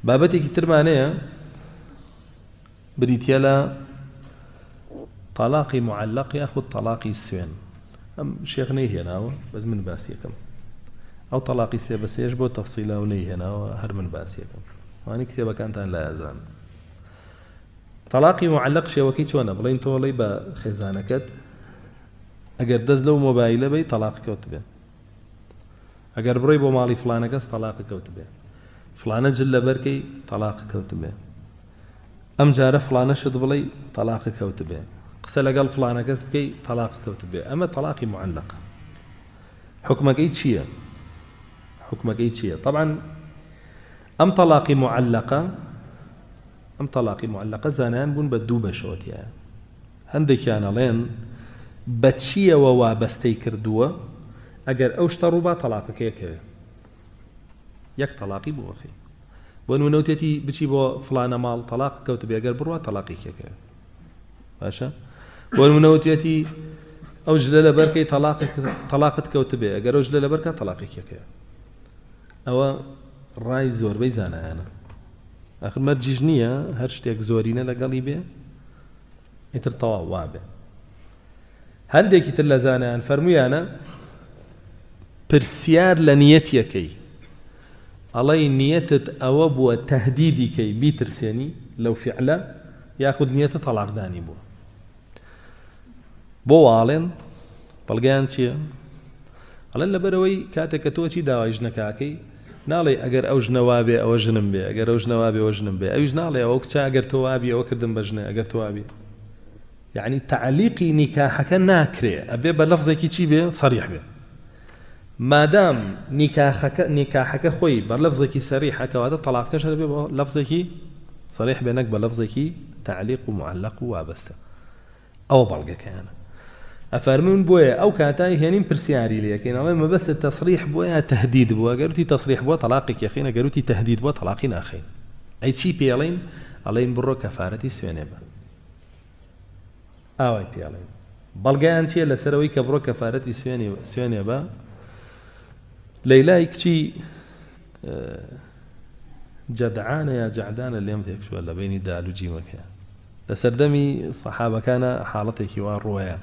بابەتێکی ترمان هەیە بریتییە لە تەلاقی معەلەق یاخود تەلاقی سوێن. ئەم شێخ نەیهێناوە بەس من باسیەکەم. ئەو تەلاقی سێ بە سێش بۆ تەفسیلە و نەیهێناوە هەر من باسیەکەم. وانی کتێبەکانتان لا ئەزان. تەلاقی معەلەق شێوەکەی چۆنە؟ بڵێین تۆ ئەڵێی بە خێزانەکەت ئەگەر دەست لەو مۆبایلە بەی تەلاق کەوت بێ. ئەگەر بڕۆی بۆ ماڵی فڵانە کەس تەڵاقت کەوتبێ. فڵانە جل لەبەر کەی تەڵاقت کەوتبێ. ئەم جارە فڵانە شت بڵێی تەڵاقت کەوتبێ. قسە لەگەڵ فڵانە کەس بکەی تەڵاقت کەوتبێ. ئەمە تەڵاقی معەلەقە. حوکمەکەی چییە؟ حوکمەکەی چییە؟ تەبعەن ئەم تەڵاقی معەلەقە ئەم تەڵاقی معەلەقە زانایان بوون بە دوو بەشەوە تیایە. هەندێکیان ئەڵێن بە چییەوە وابەستەی کردووە، ئەگەر ئەو شتە ڕووبا تەڵاقەکەی ئەکەوێ، یەک تەڵاقی بۆ ئەخەی. بۆ نموونە وتێتی بچی بۆ فڵانە ماڵ تەڵاق کەوتبێ، ئەگەر بڕوا تەڵاقێکی ئەکەوێ. باشە بۆ نموونە وتێتی ئەو جلە لەبەرکەی تەڵاقت کەوتبێ، ئەگەر ئەو جلە لەبەرکە تەڵاقێکی ئەکەوێ. ئەوە ڕای زۆربەی زانایانە. ئاخر مەرجیش نییە هەر شتێک زۆرینە لەگەڵی بێ ئیتر تەواو وابێ. هەندێکی تر لە زانایان فەرموویانە پرسیار لە نیەتیەکەی ئەڵێی نیەتت ئەوە بووە تەهدیدی کەی بیترسێنی لەو فیعلە یاخود نیەتە تەڵاقدانی بووە. بۆ واڵێن بەڵگەیان چییە؟ ئەڵێن لەبەرەوەی کاتێک کە تۆ چی داوای ژنەکەکەی ناڵێ ئەگەر ئەو ژنە وابێ ئەوە ژنم بێ ئەگەر ئەو ژنە وابێ ئەوە ژنم بێ ئەویش ناڵێ ئەو کچە ئەگەر تۆ وابی ئەوە کردم بە ژنە ئەگەر تۆ وابی یعنی تعلیقی نیکاحەکە ناکرێ ئەبێ بە لەفزێکی چی بێ صریح بێ مادام نیکاحەکە نیکاحەکە خۆی بە لەفزێکی سەریحە کەواتە تەلاقەکەش هەر بێ بە لەفزێکی صریح بێ نەک بە لەفزێکی تعلیق و معلق و وابەستە. ئەوە بەڵگەکەیانە ئەفەرموون بۆیە ئەو کاتای هێنین پرسیاری لێکەین ئەڵێن مەبەستت تەسریح بووە یا تەهدید بووە گەر وتی تەسریح بووە تەلاقێکی ئەخەین ئەگەر وتی تەهدید بووە تەلاقی ناخەین ئەی چی پێ ئەڵێین ئەڵێین بڕۆ کەفارەتی سوێنێ بە ئاوای پێ ئەڵێین بەڵگەیان چییە لەسەر ئەوەی کە بڕۆ کەفارەتی سوێنێ سوێنێ بە لەیلای کچی جەدعانە یا جەعدانە لێم تێکچووە لە بینی دال و جیمەکەیان لە سەردەمی سەحابەکانا حاڵەتێکی وا ڕووەیا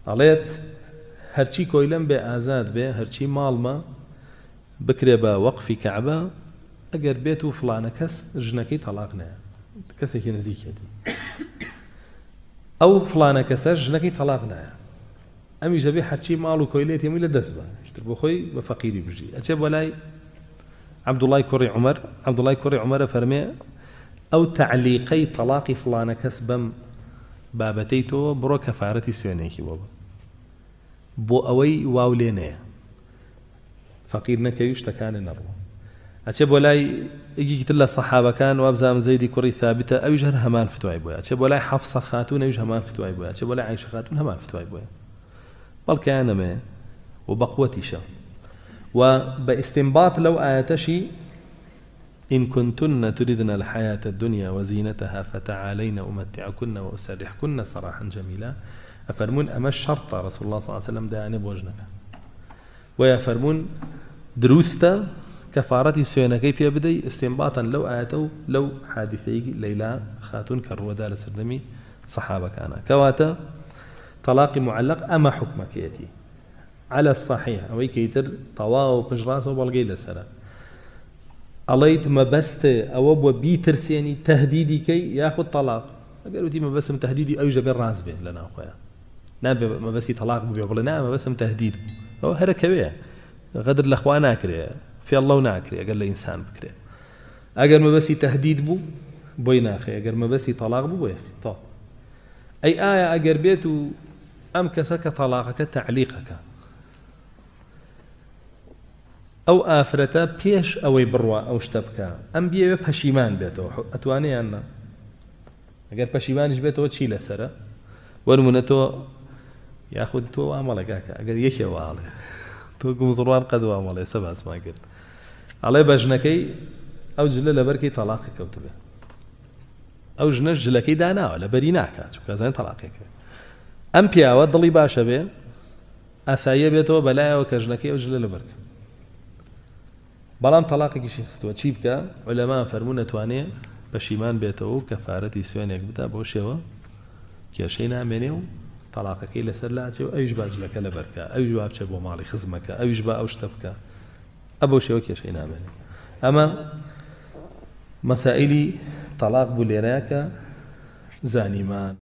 ئەڵێت هەرچی کۆیلەم بێ ئازاد بێ هەرچی ماڵمە بکرێ بە وەقفی کەعبە ئەگەر بێت و فڵانە کەس ژنەکەی تەڵاق نایە کەسێکی نزیکێتی ئەو فڵانە کەسە ژنەکەی تەڵاق نایە ئەمیش دەبێ هەرچی ماڵ و کۆیلەیەتی هەمووی لە دەست بە شتر بۆ خۆی بە فەقیری بژی ئەچێ بۆ لای عەبدوڵای کوڕی عومەر، عەبدوڵای کوڕی عومەر ئەفەرمێ، ئەو تەعلیقەی تەڵاقی فڵانە کەس بەم بابەتەی تۆ بڕۆ کەفارەتی سوێنێکی بۆ بە بۆ ئەوەی واو لێ نەیە فەقیر نەکەوی شتەکانێ نەڕوا. ئەچێ بۆ لای یەکێکی تر لە سەحابەکان وابزانم زەیدی کوڕی ثابتە ئەویش هەر هەمان فتوای بۆیە ئەچێ بۆ لای حەفسە خاتوون ئەویش هەمان فتوای بۆیە ئەچێ بۆ لای عایشە خاتوون هەمان فتوای بۆیە. بەڵکەیان ئەمەیە و بەقوەتیشە و بە ئیستینباط لەو ئایەتەشی إن كنتن تردن الحياة الدنيا وزينتها فتعالين أمتعكن وأسرحكن سراحا جميلا ئەفەرموون ئەمە شەرتە رسول الله صلی الله علیه وسلم دایانێ بۆ ژنەکان بۆیە فەرموون دروستە کەفارەتی سوێنەکەی پێ بدەی ئیستینباتەن لەو ئایەتە و لەو حادیثەی لەیلا خاتوون کە ڕووەدا لە سەردەمی سەحابەکانە کەواتە تەڵاقی معلق ئەمە حوکمەکەیەتی علی الصحیح ئەوەی کە ئیتر تەواو پشتڕاستە و بەڵگەی لەسەرە ئەڵێیت مەبەست ئەوە بووە بیترسێنی تەهدیدی کەی یاخود تەڵاق ئەگەر وتی مەبەستم تەهدیدی ئەویش دەبێت ڕاست بێ لە ناوخۆیان نابێ مەبەستی تەڵاق ببێ بڵێ نا مەبەستم تەهدید بوو ئەوە هەرەکەوێ غەدر لە خوا ناکرێ فێڵ لەو ناکرێ ئەگەر لە ئینسان بکرێ ئەگەر مەبەستی تەهدید بوو بۆی ناخێ ئەگەر مەبەستی تەڵاق بوو بۆی تەواو ئەی ئایا ئەگەر بێت و ئەم کەسە کە تەڵاقەکە تەعلیقەکە ئەو ئافرەتە پێش ئەوەی بڕوا ئەو شتە بکە ئەم بیەوێ پەشیمان بێتەوە ئەتوانێ یان نا ئەگەر پەشیمانیش بێتەوە چی لەسەرە بۆ نمونە تۆ یاخود تۆ وامەڵێ کاکە ئەگەر یەکێ واڵێ تۆ گومزڕوان قەد وامەڵێ سە باسمان کرد ئەڵێ بە ژنەکەی ئەو جلە لەبەرکەی تەڵاقی کەوتبێ ئەو ژنەش جلەکەی داناوە لەبەری ناکات چونکە ئەزانێت تەڵاقی ئەکەوێت. ئەم پیاوە دڵی باشە بێ ئاساییە بێتەوە بەلایەوە کە ژنەکەی ئەو جلە لەبەر کە. بەڵام تەڵاقێکیشی خستووە چی بکا؟ عولەما فەرموون ئەتوانێ پەشیمان بێتەوە و کەفارەتی سوێنێک بدا بەو شێوە کێشەی نامێنێ و تەڵاقەکەی لەسەر لاچێ و ئەویش با جلەکە لەبەر کا، ئەویش با بچێ بۆ ماڵی خزمەکە، ئەویش با ئەو شتە بکا، ئە بەو شێوە کێشەی نامێنێ. ئەمە مەسائیلی تەڵاق بوو لێرەیا کە زانیمان.